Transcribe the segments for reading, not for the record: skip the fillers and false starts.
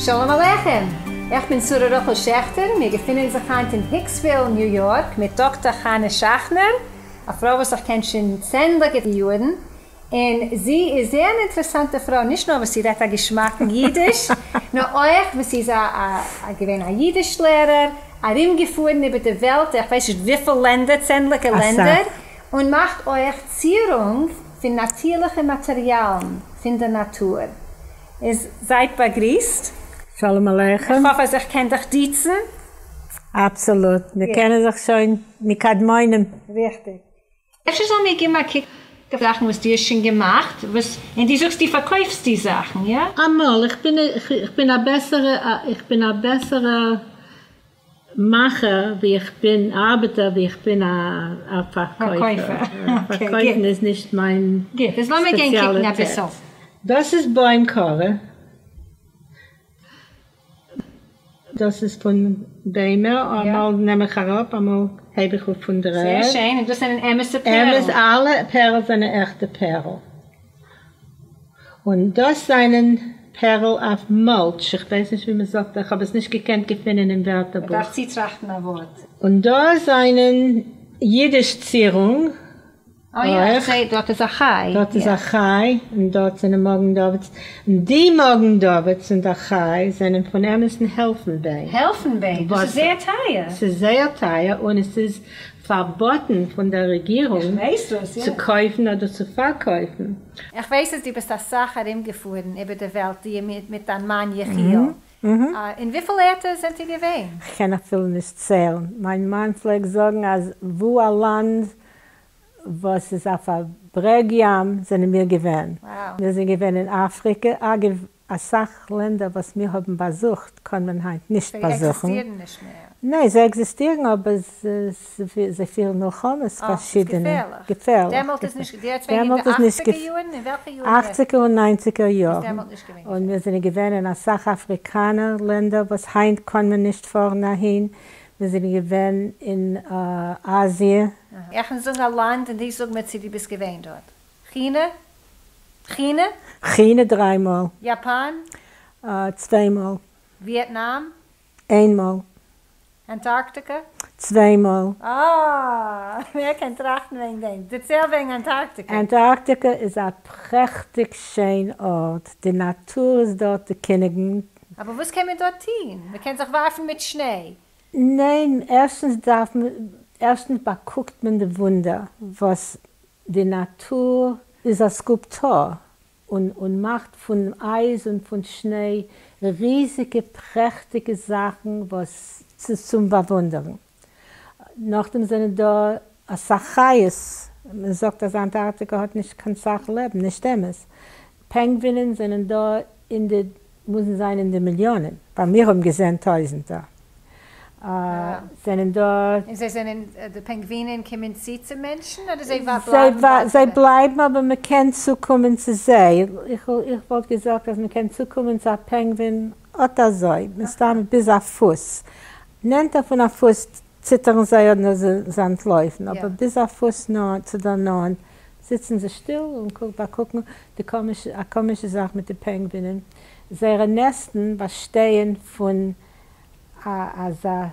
שלום עליכם! איך בין שרה רחל שעכטער, מיר געפינען זיך היינט אין היקסוויל, ניו יארק, מיט דאקטער חנה שאכנער, א פרוי וואס איך קען שוין צענדליגע יארן, און זי איז זייער אן אינטערעסאנטע פרוי, נישט נאר וואס זי רעדט א געשמאקן אידיש, נאר אויך וואס זי איז א געווען א אידיש לערער, ארומגעפארן איבער די וועלט, איך ווייס נישט וויפיל לענדער, צענדליגע לענדער, און מאכט אויך צירונג פון נאטירליכע מאטעריאלן פון דער נאטור. איז זייט באגריסט. שלום עליכם. איך האף אז איך קען דיך דיצן. אבסאלוט, מיר קענען זיך שוין מקדמונים. ריכטיג. אפשר זאלן מיר געבן א קוק אויף זאכן וואס דו האסט שוין געמאכט, וואס, און דו זאגסט דו פארקויפסט די זאכן, יא? אמאל, איך בין, איך בין א בעסערע, איך בין א בעסערע מאכער ווי איך בין, ארבעטער ווי איך בין א פארקויפער. פארקויפן איז נישט מיין גוט, איז לאמיר גיין קוקן אביסל. דאס איז בוים קארע. דאס איז פון ביימער, אמאל נעם איך אראפ אמאל הייב איך אויף פון דער ערד. זייער שיין, און דאס זענען אמת'ע פערל? אמת, אלע פערל זענען עכטע פערל. און דאס זענען פערל אויף mulch, איך ווייס נישט ווי מען זאגט, איך האב עס נישט געקענט געפינען אין ווערטערבוך. מ'דארף צוטראכטן א ווארט. און דא זענען אידיש צירונג. אוי יא, איך זעה דארט איז א חי. דארט איז א חי, און דארט זענען מגן דוד'ס, און די מגן דוד'ס און דער חי זענען פון אמת'ן העלפנביין. העלפנביין? דאס איז זייער טייער. ס'איז זייער טייער, און עס איז פארבאטן פון דער רעגירונג צו קויפן אדער צו פארקויפן. איך ווייס אז דו ביסט אסאך ארומגעפארן איבער די וועלט, דו מיט דיין מאן יחיאל. אין וויפיל ערטער זענט איר געווען? כ'קען אפילו נישט ציילן. מיין מאן פלעגט זאגן אז וואו א לאנד וואס איז אויף א ברעג ים זענען מיר געווען. מיר זענען געווען אין אפריקע, אגב אסאך לענדער וואס מיר האבן באזוכט קען מען היינט נישט באזוכן. זיי עקזיסטירן נישט מער. ניין זיי עקזיסטירן אבער זיי פירן מלחמות פארשידענע. געפערליך. דעמאלט איז נישט, די רעדסט וועגן אין די אכציגער יארן? אין וועלכע יארן? אכציגער און ניינציגער יארן. און מיר זענען געווען אין אסאך אפריקאנער לענדער וואס היינט קען מען נישט פארן אהין. מיר זענען געווען אין אזיע. איך קען זאגן א לאנד און דו זאג מיר צו דו ביסט געווען דארט. כינע? כינע? כינע דריי מאל. יאפאן? צוויי מאל. וויעטנאם? איין מאל. אנטארקטיקע? צוויי מאל. אה! ווער קען טראכטן וועגן דעם? דערצייל וועגן אנטארקטיקע. אנטארקטיקע איז א פרעכטיג שיין ארט, די נאטור איזדארט די קיניגן. אבער וואס קען מען דארט טוהן? מען קען זיך ווארפן מיט שניי? ניין, ערשטנס דארף מען, ערשטנס באקוקט מען די וואונדער וואס די נאטור איז א סקולפטור און און מאכט פון אייז און פון שניי ריזיגע פרעכטיגע זאכן וואס ס'איז צום באוואונדערן. נאכדעם זענען דא אסאך חיות, מען זאגט אז אנטארקטיקא האט נישט קיין סאך לעבן, נישט אמת, פענגווינען זענען דא אין די, מוזן זיין אין די מיליאנען, ווייל מיר האבן געזען טויזענטער זענען דא. און זיי זענען, די פענגווינען קומען צו צו מענטשן אדער זיי בלייבן ווייטער? זיי בלייבן אבער מען קען צוקומען צו זיי, איך וואלט געזאגט אז מען קען צוקומען צו א פענגווין אט אזוי, מסתם ביז א פוס, נענטער פון א פוס ציטערן זיי אדער זיי אנטלויפן, אבער ביז א פוס נאנט צו דער נאנט זיצן זיי שטיל און באקוקן די קאמישע, א קאמישע זאך מיט די פענגווינען, זייערע נעסטן באשטייען פון א אזא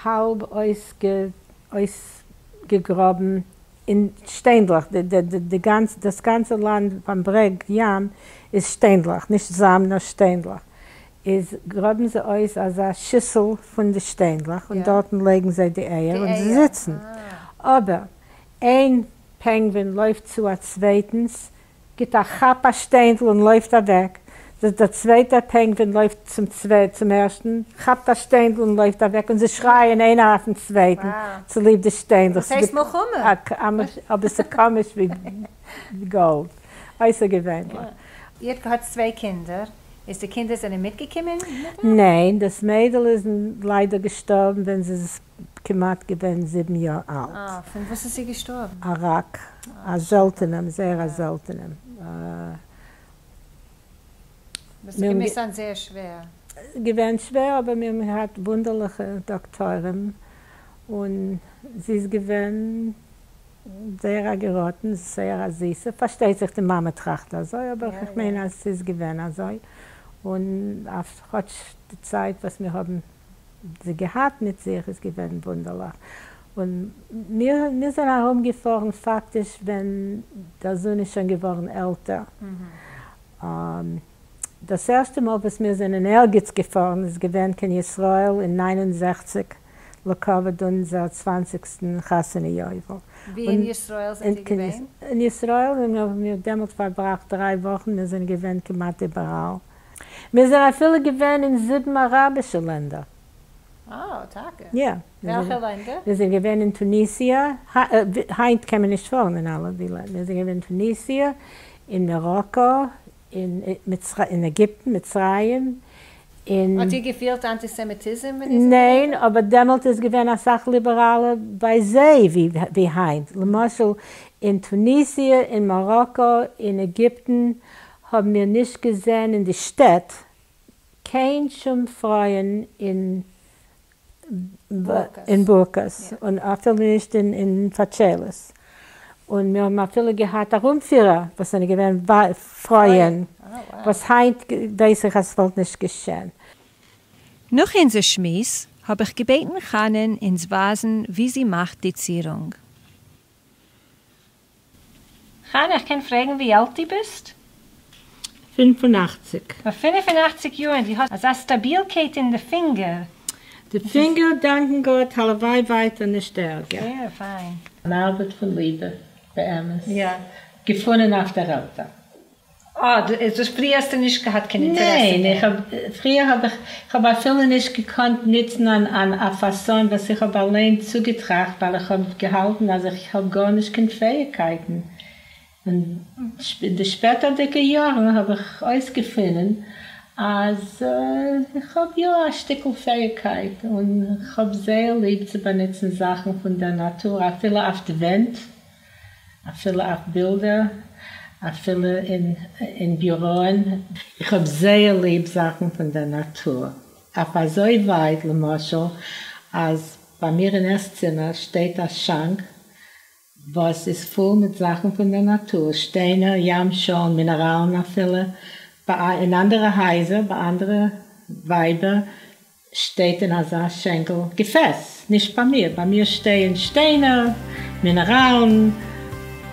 האלב אויסגעגראבן אין שטיינדלעך, די גאנצע, דאס גאנצע לאנד ביים ברעג ים איז שטיינדלעך, נישט זאמד נאר שטיינדלעך, איז גראבן זיי אויס אזא שיסל פון די שטיינדלעך און דארטן לייגן זיי די אייער און זיי זיצן, אבער איין פענגווין לויפט צו א צווייטנס, גיט א כאפ א שטיינדל און לויפט אוועק, דער צווייטער פענגווין לויפט צום צום ערשטן, כאפט א שטיינדל און לויפט אוועק, און זיי שרייען איינער אויפן צווייטן צוליב די שטיינדלעך. דאס הייסט מלחמה. אבער ס'קאמיש ווי גאלד. אויסערגעווענליך. איר האט געהאט צוויי קינדער, איז די קינדער זענען מיטגעקומען מיט אייך? ניין, דאס מיידל איז ליידער געשטארבן ווען זי איז כמעט געווען 7 יאר אלט. אה, פון וואס איז זי געשטארבן? א ראק, א זעלטענעם, זייער א זעלטענעם. דאס האט געמוזט זיין זייער שווער. געווען שווער, אבער מיר האבן געהאט וואונדערליכע דאקטוירים, און זי איז געווען זייער א געראטן, זייער א זיסע, פארשטייט זיך די מאמע טראכט אזוי, אבער איך מיין אז ס'איז געווען אזוי. און אויף כאטש די צייט וואס מיר האבן זי געהאט מיט זיך איז געווען וואונדערליך, און מיר מיר זענען ארום געפארן פאקטיש ווען דער זון איז שוין געווארן עלטער, דאס ערשטע מאל וואס מיר זענען ערגעץ געפארן איז געווען קיין ישראל אין 69 לכבוד אונזער צוואנציגסטן חתונה יובל. ווי אין ישראל זענט איר געווען? אין ישראל האבן מיר דעמאלט פארבראכט דריי וואכן, מיר זענען געווען כמעט איבעראל. מיר זענען אפילו געווען אין זיבן אראבישע לענדער. אה, טאקע? יא. וועלכע לענדער? מיר זענען געווען אין טוניסיע, היינט קען מען נישט פארן אין אלע די לענדער, מיר זענען געווען אין טוניסיע, אין מאראקא, אין עגיפטן, מצרים, אין. האט איר געפילט אנטיסעמיטיזם ווען איר זענט געווען ניין, דארט? אבער דעמאלט איז געווען אסאך ליבעראלער ביי זיי ווי היינט. למשל אין טוניסיע, אין מאראקא, אין עגיפטן האבן מיר נישט געזען אין די שטעט קיין שום פרויען אין אין בורקעס, און אפילו נישט אין פאטשיילעס, און מיר האבן אפילו געהאט ארומפירער וואס זענען געווען פרויען, וואס היינט ווייס איך אז ס'וואלט נישט געשען. נאך אונזער שמועס האב איך געבעטן חנה'ן אונז ווייזן ווי זי מאכט די צירונג. חנה, איך קען פרעגן ווי אלט דו ביסט? 85. פאר 85 יאר און דו האסט אזא סטאבילקייט אין די פינגער. די פינגער דאנקן גאט, הלוואי ווייטער נישט ערגער. זייער פיין. אן ארבעט פון ליבע, באמת. געפונען אויף דער עלטער. אה, איז דאס פריער האסטו נישט געהאט קיין אינטערעסע ניין, דערין? איך האב, פריער האב איך, איך האב אפילו נישט געקאנט נוצן אן אן א פאסאן וואס איך האב אליין צוגעטראכט ווייל איך האב געהאלטן אז איך האב גארנישט קיין פעאיגקייטן, און אין די שפעטערדיגע יארן האב איך אויסגעפונען אז איך האב יא א שטיקל פעאיגקייט און איך האב זייער ליב צו באנוצן זאכן פון דער נאטור אפילו אויף די ווענט. אפילו אויף בילדער, אפילו אין ביוראען. איך האב זייער ליב זאכן פון דער נאטור, אויף אזוי ווייט למשל אז ביי מיר אין עס-צימער שטייט א שאנק וואס איז פול מיט זאכן פון דער נאטור, שטיינער, ים-שאלן, מינעראלן אפילו, אין אנדערע הייזער, ביי אנדערע ווייבער שטייט אין אזא שענקל געפעס, נישט ביי מיר, ביי מיר שטייען שטיינער, מינעראלן,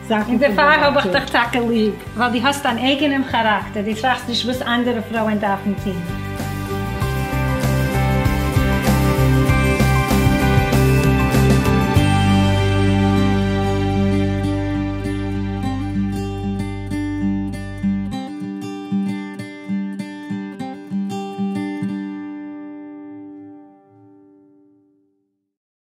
זאכן און פון דער דערפאר האב איך נאטור. דיך טאקע ליב, ווייל דו האסט דיין אייגענעם כאראקטער, דו טראכסט נישט וואס אנדערע פרויען דארפן טון.